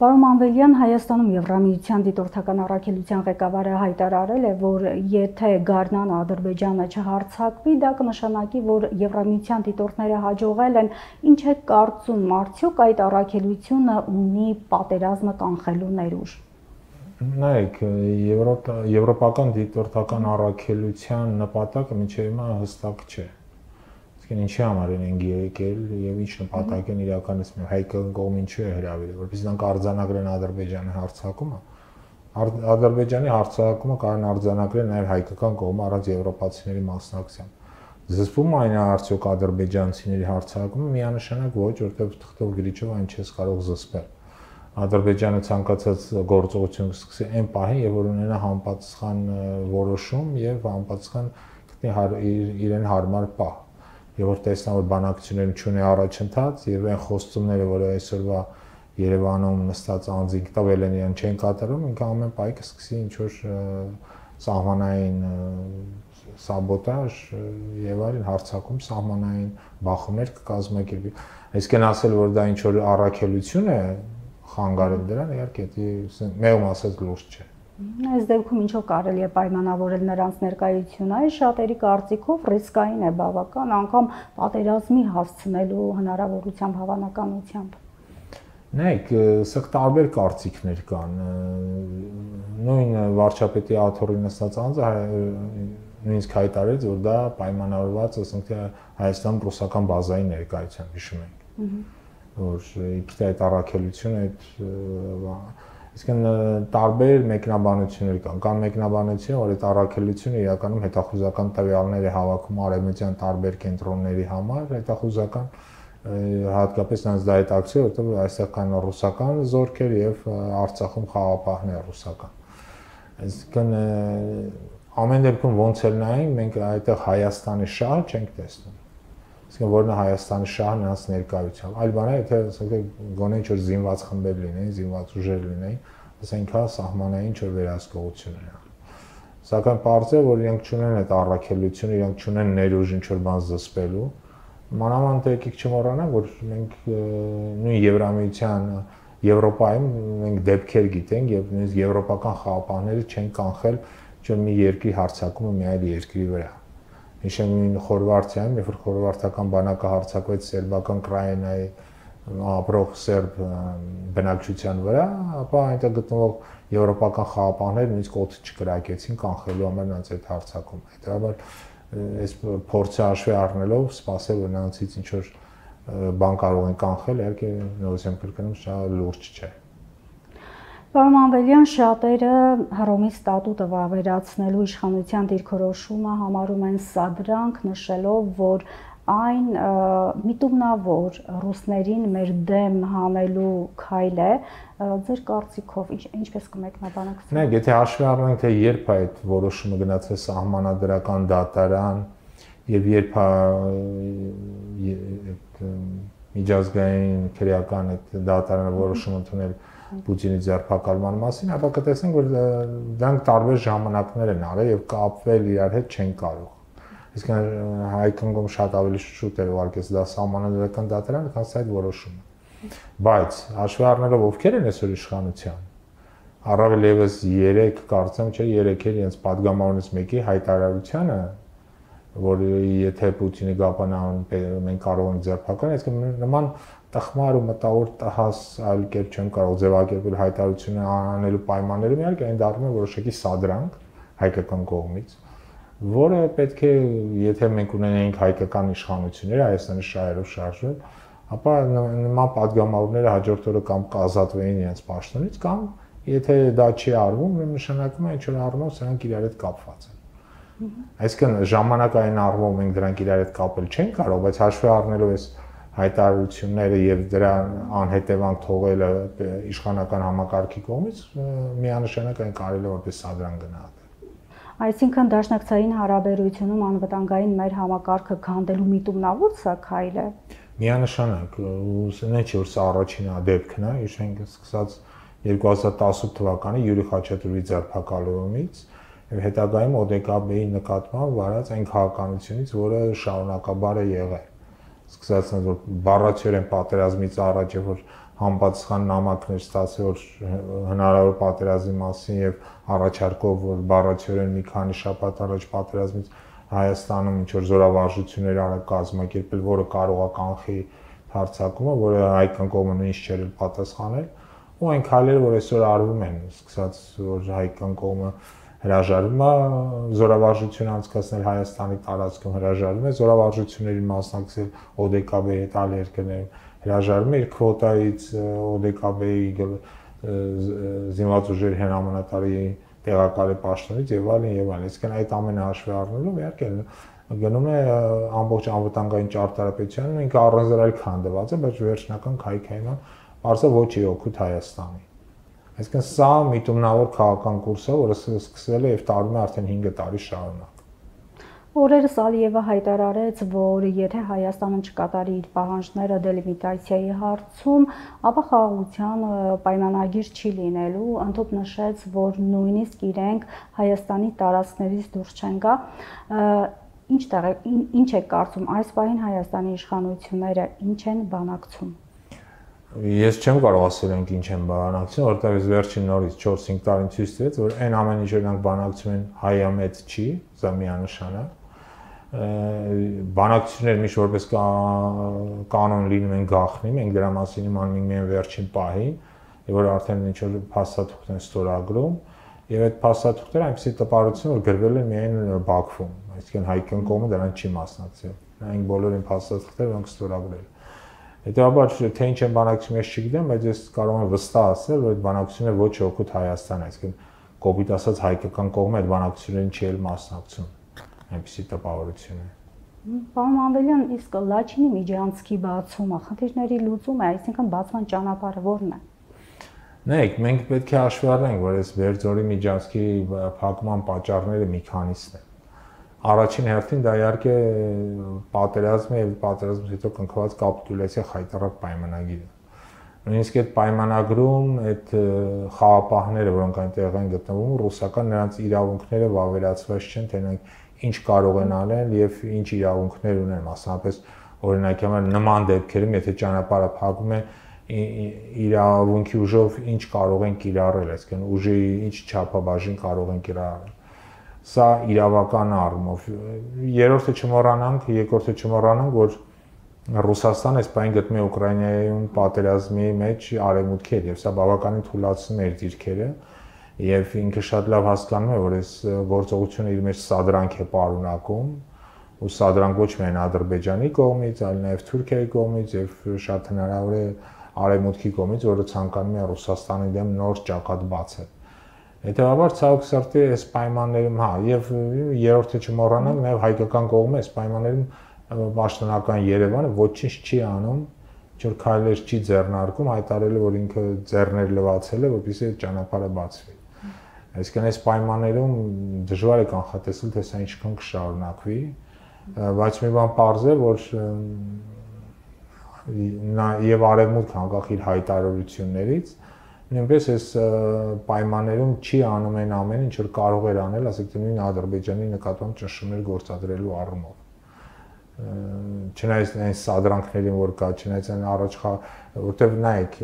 Պարոն Մանվելյան, Հայաստանում Եվրամիության դիտորդական առաքելության ղեկավարը հայտարարել է, որ եթե գարնանը Ադրբեջանը չհարձակվի, դա կնշանակի, որ Եվրամիության դիտորդները հաջողել են, ինչ է կարծում, արդյոք այդ առաքելությունը ունի պատերազմը կանխելու ներուժ։ Նայեք, եվրոպական դիտորդական առաքելության նպատակը մինչև հիմա հստակ չէ։ Ինչի համար են եկել եւ ինչ նպատակ են իրականացնում, հայկական կողմին չի հրավիրել, որովհետեւ նրանք արձանագրեն Ադրբեջանի հարձակումը։ Ադրբեջանի հարձակումը կարող արձանագրեն նաեւ հայկական կողմը առանց եվրոպացիների մասնակցության։ Զսպում այն արդյոք ադրբեջանցիների հարձակումը միանշանակ ոչ, որովհետեւ թղթով գրիչով այն չես կարող զսպել։ Ադրբեջանը ցանկացած գործողություն կսկսի այն պահին, երբ որ ունենա համապատասխան որոշում եւ համապատասխան իրեն հարմար պահ։ Եվ որ տեսնա, որ բանակցությունները չունի առաջընթաց եւ այն խոստումները, որ այսօրվա Երևանում նստած անձինք տվել են, իրեն չեն կատարում, ինքը ամեն պահի կսկսի ինչ-որ սահմանային սաբոտաժ եւ այլն հարձակում, սահմանային բախումներ կկազմակերպի։ Այսինքն ասել, որ դա ինչ-որ առաքելություն է խանգարել դրան, իհարկե, դա մեղմ ասած լուրջ չէ։ Այս դեպքում ինչով կարելի է պայմանավորել նրանց ներկայությունը, շատերի կարծիքով ռիսկային է բավական, անգամ պատերազմի հասցնելու հնարավորությամբ հավանականությամբ։ Նայեք, սա տարբեր կարծիքներ կան։ Նույն վարչապետի աթոռի նստած անձը նույնիսկ հայտարարեց, որ դա պայմանավորված է, ասենք թե Հայաստանում ռուսական բազայի ներկայությամբ, հիշում եք, որ իբրև այդ առաքելությունը Իսկն տարբեր մեկնաբանություններ կան մեկնաբանություն, որ այդ առաքելությունը իրականում հետախուզական տվյալներ է հավաքում արևմտյան տարբեր կենտրոնների համար, հետախուզական հատկապես նրանց դա հետաքրքիր, որովհետև այստեղ կան ռուսական զորքեր եւ Արցախում խաղապահներ ռուսական։ Այսինքն ամեն դեպքում ոնց էլ նայենք, մենք այդտեղ Հայաստանի շահը չենք տեսնում։ Իսկ որն է Հայաստանի շահը նրանց ներկայությամբ։ Այլ բան է, եթե ասենք գոնե ինչ-որ զինված խմբեր լինեին, զինված ուժեր լինեին, ասենք հա սահմանային ինչ-որ վերահսկողություն ունենան։ Սակայն պարզ է, որ իրենք չունեն այդ առաքելությունը, իրենք չունեն ներուժ ինչ-որ բան զսպելու։ Մանավանդ եկեք չմոռանանք, որ մենք նույն Եվրամիության Եվրոպայում մենք դեպքեր գիտենք եւ նույնիսկ եվրոպական խաղապահները չեն կանխել ինչ-որ մի երկրի հարձակումը մի այլ երկրի վրա։ Հիշենք նույն Խորվաթիայում, երբ որ խորվաթական բանակը հարձակվեց սերբական Կրաինայի ապրող սերբ բնակչության վրա, ապա այնտեղ գտնվող եվրոպական խաղապահները նույնիսկ օդը չկրակեցին կանխելու համար նրանց այդ հարձակումը։ Հետևաբար այս փորձը հաշվի առնելով սպասել, որ նրանցից ինչ-որ բան կարող են կանխել, իհարկե նորից եմ կրկնում, շատ լուրջ չէ։ Պարոն Մանվելյան, շատերը Հռոմի ստատուտը վավերացնելու իշխանության դիրքորոշումը համարում են սադրանք, նշելով, որ այն միտումնավոր ռուսներին մեր դեմ հանելու քայլ է, ձեր կարծիքով ինչպես կմեկնաբանեք։ Նայեք, եթե հաշվի առնենք, թե երբ այդ որոշումը գնացել սահմանադրական դատարան եւ երբ միջազգային քրեական այդ դատարանը որոշում ընդունել Պուտինի ձերբակալման մասին, ապա կտեսնենք, որ դրանք տարբեր ժամանակներ են արել եւ կապվել իրար հետ չեն կարող։ Իսկ հայկական կողմը շատ ավելի շուտ էր ուղարկեց դա սահմանադրական դատարանը, քան այդ որոշումը։ Բայց հաշվի առնելով ովքեր են այսօր իշխանության, առավել եւս 3 կարծեմ չէ 3 էր իրենց падգամավորներից մեկի հայտարարությունը, որ եթե Պուտինի գապանան մենք կարող ենք ձերբակալել, այսինքն նման տխմար ու մտավոր տհաս այլ կերպ չեմ կարող ձևակերպել հայտարարությունը անելու պայմաններում, իհարկե այն դառնում է որոշակի սադրանք հայկական կողմից, որը պետք է, եթե մենք ունենայինք հայկական իշխանություններ, Հայաստանի շահերով շարժվել, ապա նման падգամավորները հաջորդ օրը կամ կազատվեին իրենց պաշտոնից, կամ եթե դա չի արվում, նշանակում է ինչ որ առումով սրանք իրար հետ կապված են։ Այսինքն ժամանակային առումով մենք դրանք իրար հետ կապել չենք կարող, բայց հաշվի առնելով այս հայտարարությունները եւ դրա անհետևանք թողելը իշխանական համակարգի կողմից միանշանակ այն կարելի է որպես սադրանք գնահատել։ Այսինքն դաշնակցային հարաբերությունում անվտանգային մեր համակարգը քանդելու միտումնավոր սա քայլ է։ Միանշանակ, ուսնենք չէ որ սա առաջին դեպքն է, հիշենք սկսած 2018 թվականի Յուրի Խաչատուրովի ձերբակալումից եւ հետագայում ՕԴԿԲ-ի նկատմամբ վարած այն քաղաքականությունից, որը շարունակաբար է եղել։ սկսած որ բառացիորեն պատերազմից առաջ որ համապատասխան նամակներ ստացել որ հնարավոր պատերազմի մասին եւ առաջարկով որ բառացիորեն մի քանի շաբաթ առաջ պատերազմից Հայաստանում ինչ որ զորավարժություններ արա կազմակերպել, որը կարող է կանխի հարձակումը, որը հայկական կողմը նույնիսկ չէր պատասխանել, ու այն քայլերը, որ այսօր արվում են, սկսած որ հայկական կողմը հրաժարվում է զորավարժություն անցկացնել Հայաստանի տարածքում, հրաժարվում է զորավարժություններին մասնակցել ՕԴԿԲ-ի հետ այլ երկրներում, հրաժարվում է իր քվոտայից ՕԴԿԲ-ի զինված ուժերի հրամանատարի տեղակալի պաշտոնից եւ այլն եւ այլն, այսինքն այդ ամենը հաշվի առնելով իհարկե գնում է ամբողջ անվտանգային ճարտարապետությանն ինքը առանձնարար քանդված է, բայց վերջնական քայքայման արսը ոչի օգուտ Հայաստանի։ Այսինքն սա միտումնավոր քաղաքական կուրս է, որը սկսվել է եւ տարվում է արդեն 5 տարի շարունակ։ Օրերս Ալիևը հայտարարեց, որ եթե Հայաստանը չկատարի իր պահանջները դելիմիտացիայի հարցում, ապա խաղաղության պայմանագիր չի լինելու, ընդհանուր նշեց, որ նույնիսկ իրենք Հայաստանի տարածքներից դուրս չեն գա։ Ինչ է կարծում այս պահին Հայաստանի իշխանությունները ինչ են բանակցում։ Ես չեմ կարող ասել ենք ինչ են բանակցում, որովհետեւ ես վերջին նորից 4-5 տարին ցույց տվեց, որ այն ամեն ինչ որ նրանք բանակցում են հայամետ չի, սա միանշանակ։ Բանակցությունները միշտ որպես կանոն լինում են գաղտնի, մենք դրա մասին իմանում ենք միայն վերջին պահին, եւ որ արդեն ինչ որ փաստաթուղթ են ստորագրում, եւ այդ փաստաթուղթերը այնպեսի տպարություն որ գրվել են միայն Բաքվում, այսինքն հայկական կողմը դրան չի մասնակցել։ Նրանք բոլորին փաստաթղթերը որոնք ստորագրել։ Հետևաբար թե ինչ են բանակցում ես չգիտեմ, բայց ես կարող եմ վստահ ասել, որ այդ բանակցությունները ոչ օգուտ Հայաստան, այսինքն կոպիտ ասած հայկական կողմը այդ բանակցություններին չի էլ մասնակցում։ Այնպեսի տպավորություն է։ Պարոն Մանվելյան, իսկ Լաչինի միջանցքի բացումը խնդիրների լուծում է, այսինքն բացման ճանապարհը որն է։ Նայեք, մենք պետք է հաշվի առնենք, որ այս Բերձորի միջանցքի փակման պատճառները մի քանիսն են։ Առաջին հերթին դա իհարկե պատերազմը եւ պատերազմից հետո կնքված կապիտուլյացիա խայտառակ պայմանագիրը։ Նույնիսկ այդ պայմանագրում այդ խաղապահները, որոնք այնտեղ են գտնվում, ռուսական նրանց իրավունքները վավերացված չեն, թե նրանք ինչ կարող են անել եւ ինչ իրավունքներ ունեն, մասնավորապես օրինակի համար նման դեպքերում, եթե ճանապարհը փակվում է, իրավունքի ուժով ինչ կարող են կիրառել, այսինքն ուժի ինչ չափաբաժին կարող են կիրառել։ Սա իրավական առումով։ Երկրորդը չմոռանանք, որ Ռուսաստանը այս բանը գտնում է Ուկրաինայում պատերազմի մեջ արևմուտքի հետ եւ սա բավականին թուլացնում է իր դիրքերը եւ ինքը շատ լավ հասկանում է, որ այս գործողությունը իր մեջ սադրանք է պարունակում ու սադրանք ոչ միայն Ադրբեջանի կողմից, այլ նաեւ Թուրքիայի կողմից եւ շատ հնարավոր է արևմուտքի կողմից, որը ցանկանում է Ռուսաստանի դեմ նոր ճակատ բացել։ Հետևաբար ցավոք սրտի այս պայմաններում, եւ երրորդը չմոռանանք, նաեւ հայկական կողմը այս պայմաններում պաշտոնական Երևանը ոչինչ չի անում, ինչ որ քայլեր չի ձեռնարկում, հայտարարել որ ինքը ձեռներ լվացել է, որպեսզի այդ ճանապարհը բացվի։ Այսինքն այս պայմաններում դժվար է կանխատեսել, թե սա ինչքան կշարունակվի, բայց մի բան պարզ է, որ եւ արևմուտքը անկախ իր հայտարարություններից նույնպես այս պայմաններում չի անում այն ամենը, ինչ որ կարող էր անել, ասենք նույն Ադրբեջանի նկատմամբ ճնշումներ գործադրելու առումով։ Չնայած այն սադրանքներին, որ կա, չնայած այն առաջ, որտեվ նայեք,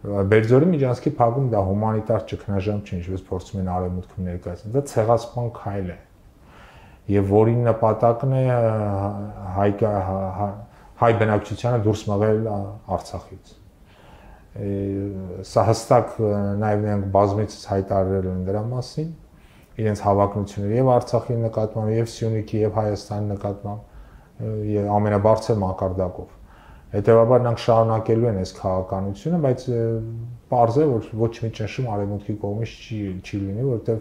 Բերձորի միջանցքի փակում դա հումանիտար ճգնաժամ չի, ինչպես փորձում են արևմուտքում ներկայացնել, դա ցեղասպան քայլ է։ Եվ որի նպատակն է հայ բնակչությանը դուրս մղել Արցախից։ Սա հստակ նաև նրանք բազմիցս հայտարարել են դրա մասին, իրենց հավակնությունները եւ Արցախի նկատմամբ, եւ Սյունիքի, եւ Հայաստանի նկատմամբ, եւ ամենաբարձր մակարդակով։ Հետևաբար նրանք շարունակելու են այս քաղաքականությունը, բայց պարզ է, որ ոչ մի ճնշում արևմուտքի կողմից չի լինի, որովհետեւ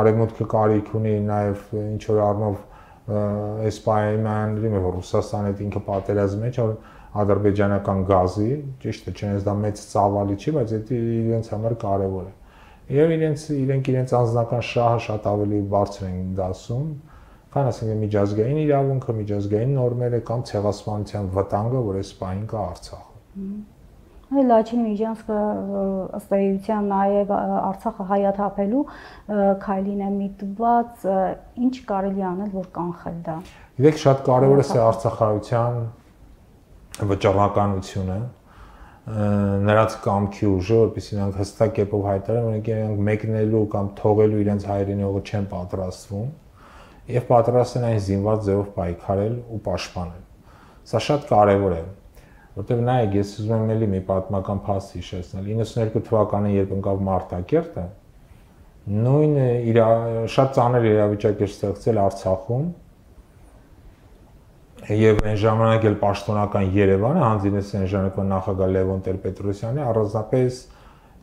արևմուտքը կարիք ունի նաև ինչ որ առնով այս պայմանների մեջ Ռուսաստանը ինքը պատերազմի մեջ ադրբեջանական գազի, ճիշտ է, չնայած դա մեծ ծավալի չի, բայց դա իրենց համար կարևոր է։ Եվ իրենք անձնական շահը շատ ավելի բարձր են դասում, քան ասենք միջազգային իրավունքը, միջազգային նորմերը կամ ցեղասպանության վտանգը, որ այս պահին կա Արցախում։ Լաչին միջանցքը ըստ էության նաև Արցախը հայաթափելու քայլին է միտված, ինչ կարելի անել, որ կանխել դա։ Գիտեք, շատ կարևոր է սա արցախայության վճռականությունը, նրանց կամքի ուժը, որպեսզի նրանք հստակ կերպով հայտարարեն, որ իրենք մեկնելու կամ թողելու իրենց հայրենիողը չեն պատրաստվում եւ պատրաստ են այն զինված ձևով պայքարել ու պաշտպանել։ Սա շատ կարևոր է, որտեղ նայեք, ես ուզում եմ ելի մի պատմական փաստ հիշեցնել։ 92 թվականին, երբ ընկավ Մարտակերտը, նույն շատ ծանր իրավիճակ էր ստեղծել Արցախում, եւ այն ժամանակ էլ պաշտոնական Երևանը հանձինեց այն ժամանակվա նախագահ Լևոն Տեր-Պետրոսյանի առանձնապես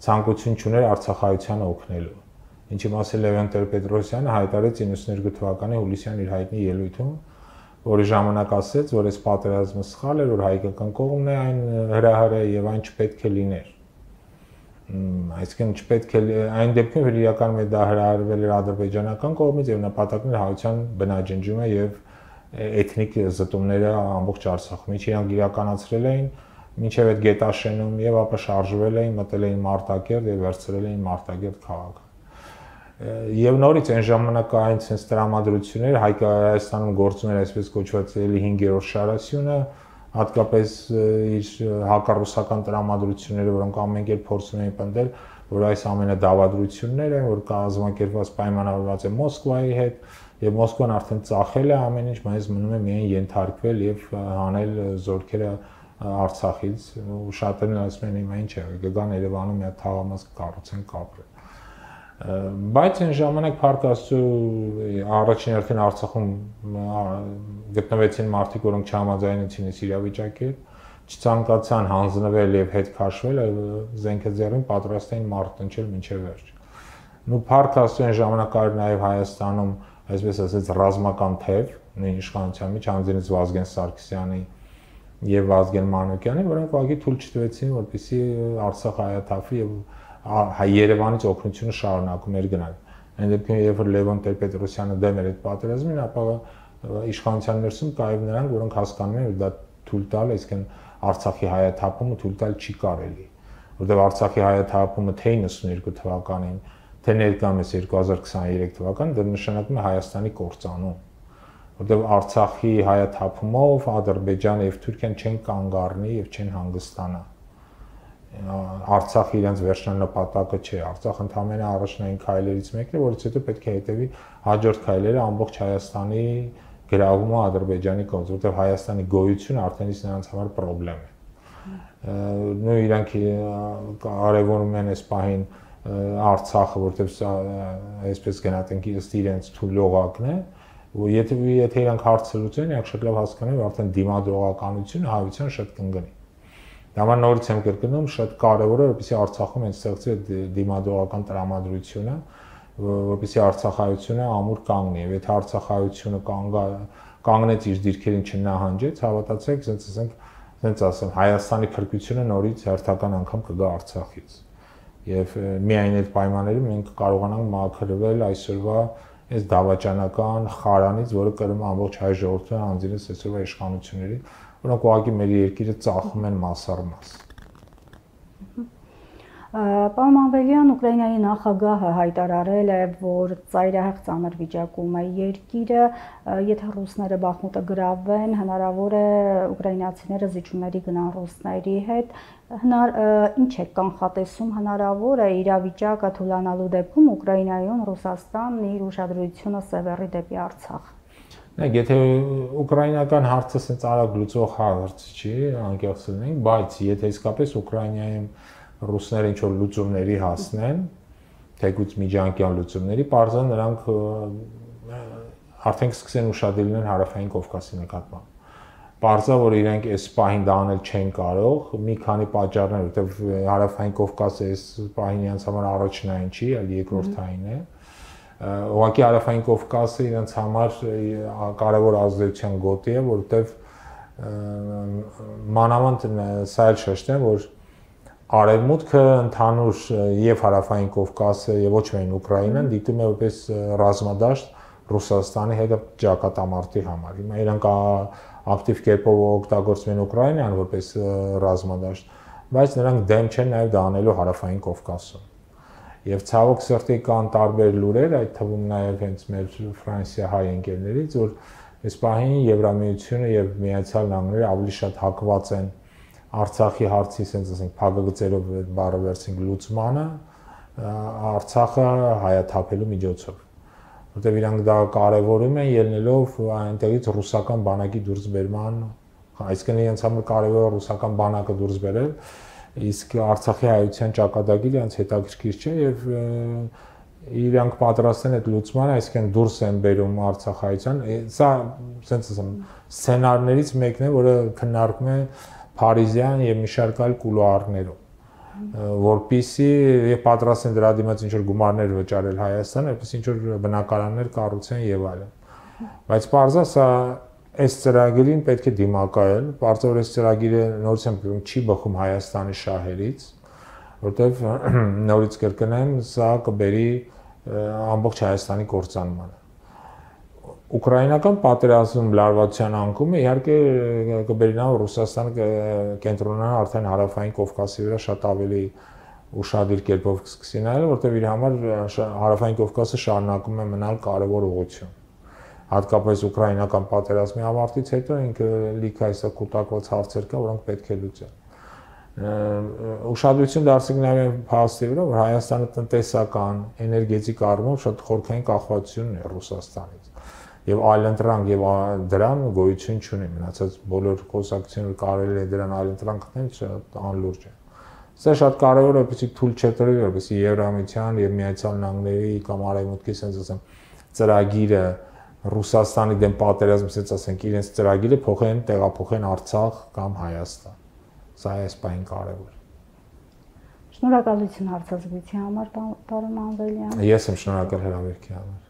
ցանկություն չուներ արցախայությանը օգնելու։ Ինչի մասը Լևոն Տեր-Պետրոսյանը հայտարարեց 92 թվականի հուլիսյան իր հայտնի ելույթում, որի ժամանակ ասաց, որ այս պատերազմը սխալ էր, որ հայկական կողմն է այն հրահարը եւ այն չպետք է լիներ։ Այսինքն չպետք է այն դեպքում, որ իրականում դա հրահարվել էր ադրբեջանական կողմից եւ նպատակն էր հայության բնաջնջումը եւ էթնիկ զտումները ամբողջ Արցախում, ինչ իրանք իրականացրել էին մինչև այդ Գետաշենում եւ ապա շարժվել էին, մտել էին Մարտակերտ եւ վերցրել էին Մարտակերտ քաղաքը։ Եվ նորից այն ժամանակային sense տրամադրություններ Հայաստանում գործում էր այսպես կոչված 5-րդ շարասյունը, հատկապես իր հակառուսական տրամադրությունները, որոնք ամեն կերպ փորձում էին պնդել, որ այս ամենը դավադրություններ են, որ կազմակերպված պայմանավորված է Մոսկվայի հետ, եւ Մոսկվան արդեն ծախել է ամեն ինչ, բայց մնում է միայն ենթարկվել եւ հանել զորքերը Արցախից, ու շատերն ասում են հիմա ինչ է, կգան Երևանում մի հատ թաղամաս կառուցեն կապրեն։ Բայց այն ժամանակ Փառք Աստծո առաջին հերթին Արցախում գտնվեցին մարդիկ, որոնք չհամաձայնեցին այս իրավիճակի հետ, չցանկացան հանձնվել եւ հետ քաշվել, զենքը ձեռին պատրաստ էին մարտնչել մինչեւ վերջ։ Ու Փառք Աստծո այն ժամանակ էր նաեւ Հայաստանում այսպես ասած ռազմական թև, նույն իշխանության մեջ հանձնեց Վազգեն Սարգսյանի եւ Վազգեն Մանուկյանի, որոնք ուղղակի թույլ չտվեցին, որպեսզի Արցախը հայաթափվի եւ Երևանից օգնությունը շարունակում էր գնալ։ Այն դեպքում, երբ որ Լևոն Տեր-Պետրոսյանը դեմ էր այդ պատերազմին, ապա իշխանության ներսում կայև նրանք, որոնք հասկանում են, որ դա թույլ տալ, այսինքն Արցախի հայաթափումը թույլ տալ չի կարելի, որտեղ Արցախի հայաթափումը թե 92 թվականին, թե ներկայումս 2023 թվականին դա նշանակում է Հայաստանի կործանում, որտեղ Արցախի հայաթափումով Ադրբեջանը եւ Թուրքիան չեն կանգ առնի եւ չեն հանգստանա։ Արցախը իրենց վերջնանպատակը չէ, Արցախը ընդհանրապես առաջնային քայլերից մեկն է, որից հետո պետք է հետևի հաջորդ քայլերը ամբողջ Հայաստանի գրավումը Ադրբեջանի կողմից, որտեղ Հայաստանի գոյությունը արդեն իսկ նրանց համար խնդրեմ է։ Նույն իրանք կարևորում են այս պահին Արցախը, որտեղ այսպես գնահատենք ըստ իրենց թույլողակն է, ու եթե իրանք հարցը լուծեն, իրանք շատ լավ հասկանան, որ արդեն դիմադրողականությունը հայության շատ կընկնի։ Դա համար նորից եմ կրկնում, շատ կարևոր է, որպեսզի Արցախում են ստեղծել դիմադրողական տրամադրությունը, որպեսզի արցախայությունը ամուր կանգնի, եւ եթե արցախայությունը կանգնեց իր դիրքերին չնահանջեց, հավատացեք, ասենք ասեմ, Հայաստանի փրկությունը նորից հերթական անգամ կգա Արցախից։ Եվ միայն այդ պայմաններում մենք կարողանանք մաքրվել այսօրվա այս դավաճանական խարանից, որը կրում է ամբողջ հայ ժողովրդը հանձինես այսօրվա իշխանությունների, որոնք ուղղակի մեր երկիրը ծախում են մաս առ մաս։ Պարոն Մանվելյան, Ուկրաինայի նախագահը հայտարարել է, որ ծայրահեղ ծանր վիճակում է երկիրը, եթե ռուսները Բախմուտը գրավեն, հնարավոր է ուկրաինացիները զիջումների գնան ռուսների հետ, ինչ է կանխատեսում, հնարավոր է իրավիճակը թուլանալու դեպքում Ուկրաինայում Ռուսաստանն իր ուշադրությունը սևեռի դեպի Արցախ։ Եթե ուկրաինական հարցը ասենց արագ լուծող հարց չի, անկեղծ լինենք, բայց եթե իսկապես Ուկրաինայում ռուսները ինչ-որ լուծումների հասնեն, թեկուզ միջանկյալ լուծումների, պարզան նրանք արդեն սկսեն ուշադիր լինեն Հարավային Կովկասի նկատմամբ։ Պարզա, որ իրենք այս պահին դա անել չեն կարող, մի քանի պատճառներ, որովհետև Հարավային Կովկասը այս պահին իրենց համար առաջնային չի, այլ երկրորդային է։ Ուղղակի Հարավային Կովկասը իրենց համար կարևոր ազդեցության գոտի է, որովհետև մանավանդ սա էլ շեշտեմ, որ Արևմուտքը ընդհանուր եւ Հարավային Կովկասը եւ ոչ միայն Ուկրաինան դիտում է որպես ռազմադաշտ Ռուսաստանի հետ ճակատամարտի համար։ Հիմա իրանք ակտիվ կերպով օգտագործում են Ուկրաինան որպես ռազմադաշտ, բայց նրանք դեմ չեն նաեւ դա անելու Հարավային Կովկասում։ Եվ ցավոք սրտի կան տարբեր լուրեր, այդ թվում նաեւ հենց մեր Ֆրանսիա հայ ընկերներից, որ այս պահին Եվրամիությունը եւ Միացյալ Նահանգները ավելի շատ հակված են Արցախի հարցի, ասենք ասենք փակագծերով բառը վերցինք լուծմանը, Արցախը հայաթափելու միջոցով, որտեղ իրանք դա կարևորում են ելնելով այնտեղից ռուսական բանակի դուրս բերման, այսինքն իրենց համար կարևոր է ռուսական բանակը դուրս բերել, իսկ Արցախի հայության ճակատագիրը իրենց հետաքրքիր չէ եւ իրանք պատրաստ են այդ լուծմանը, այսինքն դուրս են բերում Արցախայցյան, սա ասենց ասեմ սցենարներից մեկն է, որը քննարկվում է Փարիզյան եւ մի շարք այլ կուլուարներում, որպիսի եւ պատրաստ են դրա դիմաց ինչ որ գումարներ վճարել Հայաստանը, որպեսզի ինչ որ բնակարաններ կառուցեն եւ այլն։ Բայց պարզա սա այս ծրագիրին պետք է դիմակայել, բարձր այս ծրագիրը նորից եմ չի բխում Հայաստանի շահերից, որտեվ նորից կրկնեմ, սա կբերի ամբողջ Հայաստանի կործանմանը։ Ուկրաինական պատերազմում լարվածության անկումը իհարկե կբերի նա Ռուսաստանը կենտրոնանա արդեն հարավային Կովկասի վրա շատ ավելի ուշադիր կերպով կսկսի նայել, որտեվ իր համար հարավային Կովկասը շարունակում է մնալ կարևոր ուղղություն։ Հատկապես ուկրաինական պատերազմի ավարտից հետո ինքը լիքը այսա կուտակված հարցեր կա, որոնք պետք է լուծեն։ Ուշադրություն դարձրինք նաև փաստի վրա, որ Հայաստանը տնտեսական, էներգետիկ առումով շատ խորքային կախվածություն ունի Ռուսաստանից։ Եվ այլընտրանք եւ դրան գոյություն չունի, մնացած բոլոր խոսակցությունները կարելի է դրան այլընտրանք գտնել, շատ անլուրջ է։ Սա շատ կարևոր է, որպեսզի թույլ չտրվի, որպեսզի Եվրամիության եւ Միացյալ Նահանգների կամ Արևմուտքի, ասենց ասեմ, ծրագիրը Ռուսաստանի դեմ պատերազմ, ասենց ասենք, իրենց ծրագիրը փոխեն, տեղափոխեն Արցախ կամ Հայաստան։ Սա է այս բանը կարևոր։ Շնորհակալություն հարցազրույցի համար, պարոն Մանվելյան։ Ես եմ շնորհակալ հրավերքի համար։